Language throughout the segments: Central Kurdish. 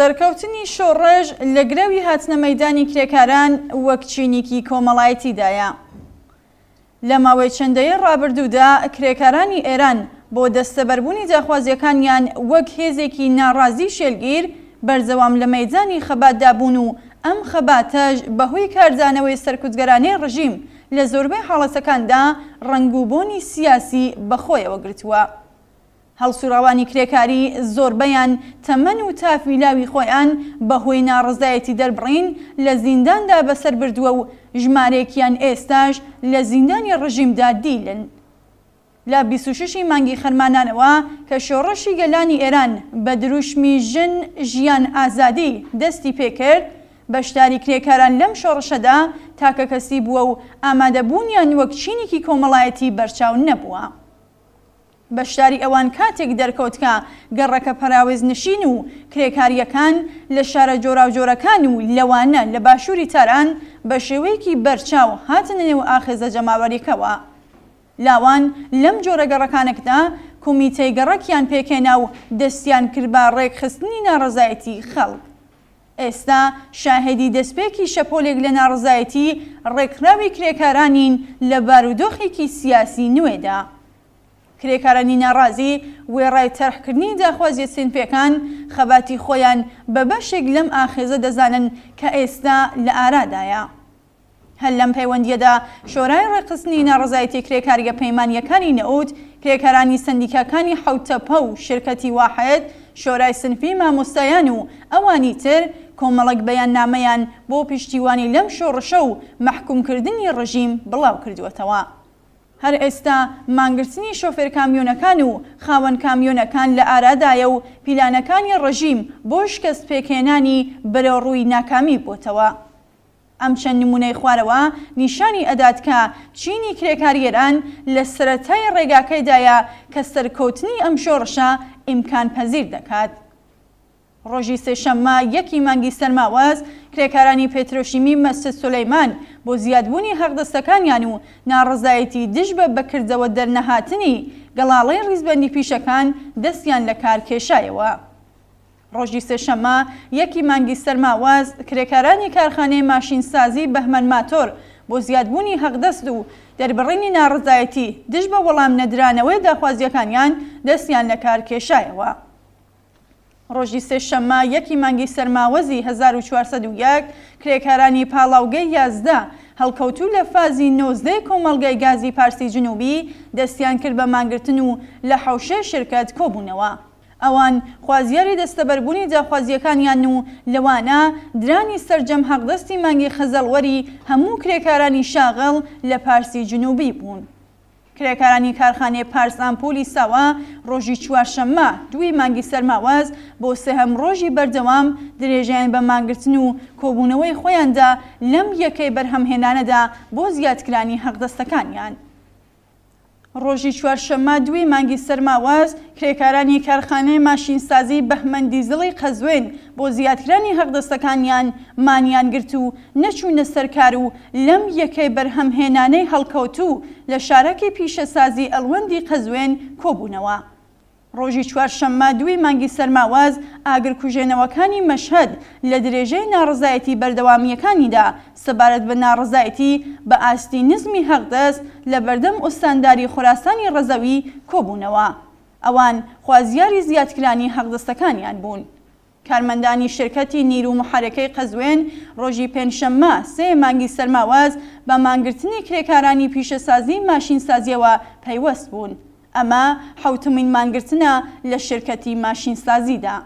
سەرکەوتنی شۆڕش لە گرەوی هاتنە مەیدانی کرێکاران وەک چینیکی کۆمەڵایەتیدایە. لە ماوەی چەند دەیەی ڕابردوودا کرێکارانی ئێران بۆ دەستەبەربوونی داخوازییەکانیان وەک هێزێکی ناڕازی شێلگیر بەردەوام لە مەیدانی خەباتدا بوون و ئەم خەباتەش بە هۆی کاردانەوەی سەرکوتگەرانەی ڕژیم لە زۆربەی حاڵەتەکاندا ڕەنگ و بۆنی سیاسی بە خۆیەوە گرتووە. هەڵسوڕاوانی کرێکاری زۆربەیان تەمەن و تافی لاوی خۆیان بە هۆی ناڕەزایەتی دەربڕین لە زینداندا بەسەر بردووە و ژمارەیەکیان ئێستاش لە زیندانی ڕژیمدا دیلن. لە 26 ی مانگی خەرمانانەوە کە شۆڕشی گەلانی ئێران بە دروشمی ژن، ژیان، ئازادی دەستی پێکرد، بەشداری کرێکاران لەم شۆڕشەدا تاکەکەسی بووە و ئامادەبوونیان وەک چینێکی کۆمەڵایەتی بەرچاو نەبووە. بەشداری ئەوان کاتێک دەرکەوت کە گەڕەکە پەراوێزنشین و کرێکارییەکان لە شارە جۆراوجۆرەکان و لەوانە لە باشووری تاران بە شێوەیەکی بەرچاو هاتنە نێو ئاخێزە جەماوەرییەکەوە. لاوان لەم جۆرە گەڕەکانەکدا کومیتەی گەڕەکیان پێکهێنا و دەستیان کرد بە ڕێکخستنی ناڕەزایەتی خەڵک. ئێستا شاهێدی دەستپێکی شەپۆلێک لە ناڕەزایەتی ڕێکخراوی کرێکارانین لە بارودۆخێکی سیاسی نوێدا. کرێکارانی ناڕازی وێڕای تەرحکردنی داخوازیە سینفیەکان، خەباتی خۆیان بە بەشێک لەم ئاخێزە دەزانن کە ئێستا لە ئارادایە. هەر لەم پەیوەندییەدا شۆرای ڕێکخستنی ناڕەزایەتیە کرێکارییە پەیمانییەکانی نەوت، کرێکارانی سەندیکاکانی حەوتتەپە و شرکەتی واحد، شۆرای سنفی مامۆستایان و ئەوانی تر کۆمەڵێک بەیاننامەیان بۆ پشتیوانی لەم شۆڕشە و مەحکومکردنی ڕژیم بڵاو کردووەتەوە. هەر ئێستا مانگرتنی شۆفێر کامیۆنەکان و خاوەن کامیۆنەکان لە ئارادایە و پیلانەکانی ڕژیم بۆ شکەست پێکهێنانی بەرەوڕووی ناکامی بۆتەوە. ئەم چەند نموونەی خوارەوە نیشانی ئەدات کە چینی کرێکاری ئێران لە سەرەتای ڕێگاکەیدایە کە سەرکەوتنی ئەم شۆڕشە ئیمکان پەزیر دەکات. ڕۆژی سێشەممە یەک ی مانگی سەرماوەز، کرێکارانی پێترۆشیمی مەسجد سولەیمان بۆ زیادبوونی حەقدەستەکانیان و ناڕەزایەتی دژ بە بەکردەوە دەرنەهاتنی گەڵاڵەی ڕیزبەندی پیشەکان دەستیان لە کار کێشایەوە. ڕۆژی سێشەممە یەک ی مانگی سەرماوەز، کرێکارانی کارخانەی ماشینسازی بەهمەن ماتۆر بۆ زیادبوونی حەقدەست و دەربڕینی ناڕەزایەتی دژ بە وەڵام نەدرانەوەی داخوازییەکانیان دەستیان لە کار کێشایەوە. ڕۆژی سێشەممە یەک ی مانگی سەرماوەزی 1401، کرێکارانی پاڵاوگەی 11 هەڵکەوتوو لە فازی 19 ی کۆمەڵگای گازی پارسی جنوبی دەستیان کرد بە مانگرتن و لە حەوشەی شرکەت کۆبوونەوە. ئەوان خوازیاری دەستەبەربوونی داخوازییەکانیان و لەوانە درانی سەرجەم حەقدەستی مانگی خەزەڵوەری هەموو کرێکارانی شاغڵ لە پارسی جنوبی بوون. کرێکارانی کارخانەی پارس ئامپولی ساوا ڕۆژی چوارشەممە دووی مانگی سەرماوەز بۆ سێهەم ڕۆژی بەردەوام درێژەیان بە مانگرتن و کۆبوونەوەی خۆیان دا لەم یەکەی بەرهەمهێنانەدا بۆ زیادکرانی حەقدەستەکانیان. ڕۆژی چوارشەممە دووی مانگی سەرماوەز، کرێکارانی کارخانەی ماشینسازی بەهمەن دیزڵی قەزوێن بۆ زیادکرانی حەقدەستەکانیان مانیان گرت و نەچوونە سەر کار و لەم یەکەی بەرهەمهێنانەی هەڵکەوتوو لە شارەکی پیشەسازی ئەڵوەندی قەزوێن کۆبوونەوە. ڕۆژی چوارشەممە دووی مانگی سەرماوەز، ئاگرکوژێنەوەکانی مەشهەد لە درێژەی ناڕەزایەتی بەردەوامییەکانیدا سەبارەت بە ناڕەزایەتی بە ئاستی نزمی حەقدەست لە بەردەم ئوستانداری خۆراسانی ڕەزەوی کۆبوونەوە. ئەوان خوازیاری زیادکرانی حەقدەستەکانیان بوون. کارمەندانی شرکەتی نیرو محەرەکەی قەزوێن ڕۆژی پێنجشەممە سێ مانگی سەرماوەز بە مانگرتنی کرێکارانی پیشەسازی ماشینسازیەوە پەیوەست بوون. ئەمە حەوتەمین مانگرتنە لە شرکەتی ماشینسازیدا.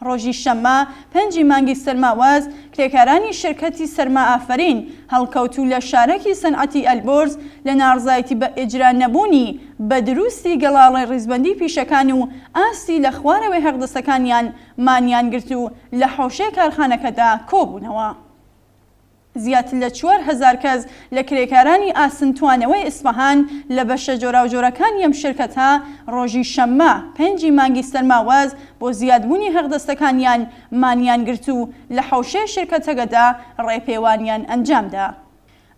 ڕۆژی شەممە پێنجی مانگی سەرماوەز کرێکارانی شرکەتی سەرما ئافەرین هەڵکەوتوو لە شارەکی سەنعەتی ئەلبۆرز لە ناڕزایەتی بە ئیجرا نەبوونی بە دروستی گەڵاڵەی ڕیزبەندی پیشەکان و ئاستی لە خوارەوەی حەقدەستەکانیان مانیان گرت و لە حەوشەی کارخانەکەدا کۆبوونەوە. زیاتر لە 4000 کەس لە کرێکارانی ئاسن توانەوەی ئیسفەهان لە بەشە جۆراوجۆرەکانی ئەم شرکەتە ڕۆژی شەممە پێنجی مانگی سەرماوەز بۆ زیادبوونی حەقدەستەکانیان مانیان گرت و لە حەوشەی شرکەتەگەدا ڕێپێوانیان ئەنجامدا.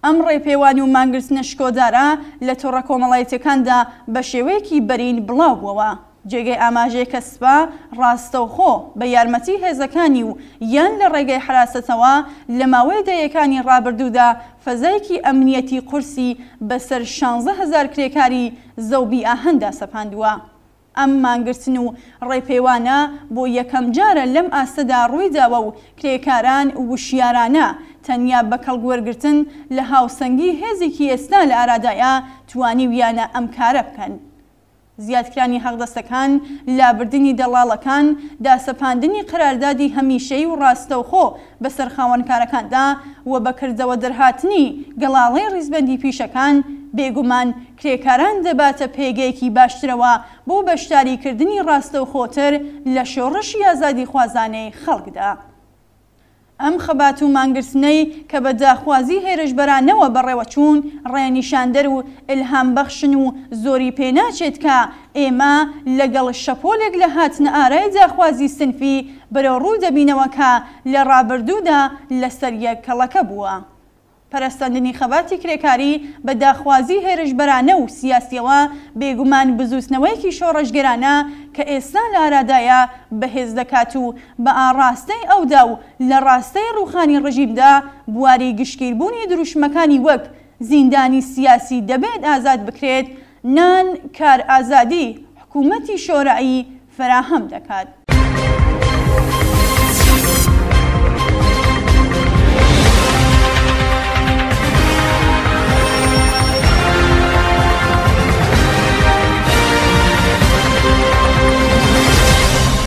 ئەم ڕێپێوان و مانگرتنە شکۆدارە لە تۆڕە کۆمەڵایەتیەکاندا بە شێوەیەکی بەرین بڵاو بووەوە. جێگەی ئاماژەیە کە سپا ڕاستەوخۆ بە یارمەتی هێزەکانی و یان لە ڕێگەی حەراسەتەوە لە ماوەی دەیەکانی ڕابردوودا فەزایەکی ئەمنیەتی قورسی بەسەر 16,000 کرێکاری زەوبی ئاهەندا سەپاندووە. ئەم مانگرتن و ڕێپێوانە بۆ یەکەمجارە لەم ئاستەدا ڕوویداوە و کرێکاران وشیارانە تەنیا بە کەڵکوەرگرتن لە هاوسەنگی هێزێکی ئێستا لە ئارادایە توانیویانە ئەم کارە بکەن. زیادکرانی حەقدەستەکان، لابردنی دەڵاڵەکان، داسەپاندنی قەراردادی هەمیشەیی و ڕاستەوخۆ بەسەر خاوەنکارەکاندا و بە کردەوە دەرهاتنی گەڵاڵەی ڕیزبەندی پیشەکان، بێگومان کرێکاران دەباتە پێگەیەکی باشترەوە بۆ بەشداریکردنی ڕاستەوخۆتر لە شۆڕشی ئازادیخوازانەی خەڵکدا. ئەم خەبات و مانگرتنەی کە بە داخوازی هێرشبەرانەوە بەڕێوەچوون، ڕێنیشاندەر و ئیلهامبەخشن و زۆری پێناچێت کە ئێمە لەگەڵ شەپۆلێک لە هاتنەئارای داخوازی سنفی بەرەوڕوو دەبینەوە کە لە ڕابردوودا لەسەر یەک کەڵەکە بووە. پەرەسەندنی خەباتی کرێکاری بە داخوازی هێرشبەرانە و سیاسیەوە بێگومان بزووتنەوەیەکی شۆڕشگێرانە کە ئێستا لە ئارادایە بەهێز دەکات و بە ئاڕاستەی ئەودا و لە ڕاستای ڕووخانی ڕژیمدا بواری گشتگیربوونی دروشمەکانی وەک زیندانی سیاسی دەبێت ئازاد بکرێت، نان، کار ئازادی، حکوومەتی شۆرایی فەراهەم دەکات.